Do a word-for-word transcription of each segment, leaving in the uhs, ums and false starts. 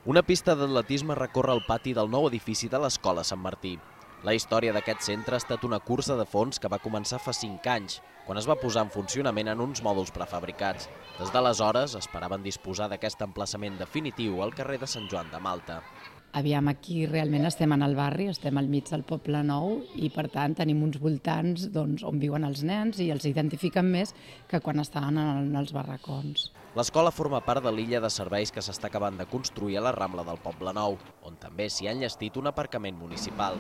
Una pista d'atletisme recorre el pati del nou edifici de l'Escola Sant Martí. La història d'aquest centre ha estat una cursa de fons que va començar fa cinc anys, quan es va posar en funcionament en uns mòduls prefabricats. Des d'aleshores esperaven disposar d'aquest emplaçament definitiu al carrer de Sant Joan de Malta. Aviam, aquí realment estem en el barri, estem al mig del Poble Nou i per tant tenim uns voltants doncs, on viuen els nens i els identifiquen més que quan estaven en els barracons. L'escola forma part de l'illa de serveis que s'està acabant de construir a la Rambla del Poble Nou, on també s'hi ha enllestit un aparcament municipal.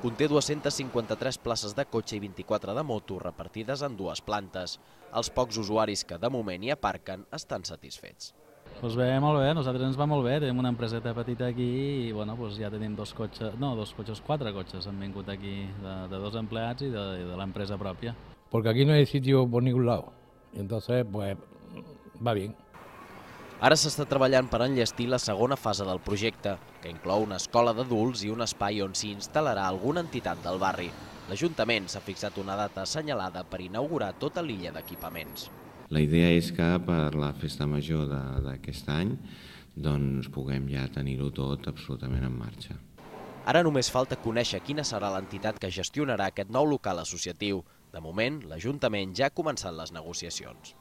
Conté dues-centes cinquanta-tres places de cotxe i vint-i-quatre de moto repartides en dues plantes. Els pocs usuaris que de moment hi aparquen estan satisfets. Doncs bé, molt bé, nosaltres ens va molt bé, tenim una empreseta petita aquí i bueno, doncs ja tenim dos cotxes, no, dos cotxes, quatre cotxes han vingut aquí de, de dos empleats i de, de l'empresa pròpia. Porque aquí no hay sitio por ningún lado, y entonces pues va bien. Ara s'està treballant per enllestir la segona fase del projecte, que inclou una escola d'adults i un espai on s'hi instal·larà alguna entitat del barri. L'Ajuntament s'ha fixat una data assenyalada per inaugurar tota l'illa d'equipaments. La idea és que per la festa major d'aquest any doncs, puguem ja tenir-ho tot absolutament en marxa. Ara només falta conèixer quina serà l'entitat que gestionarà aquest nou local associatiu. De moment, l'Ajuntament ja ha començat les negociacions.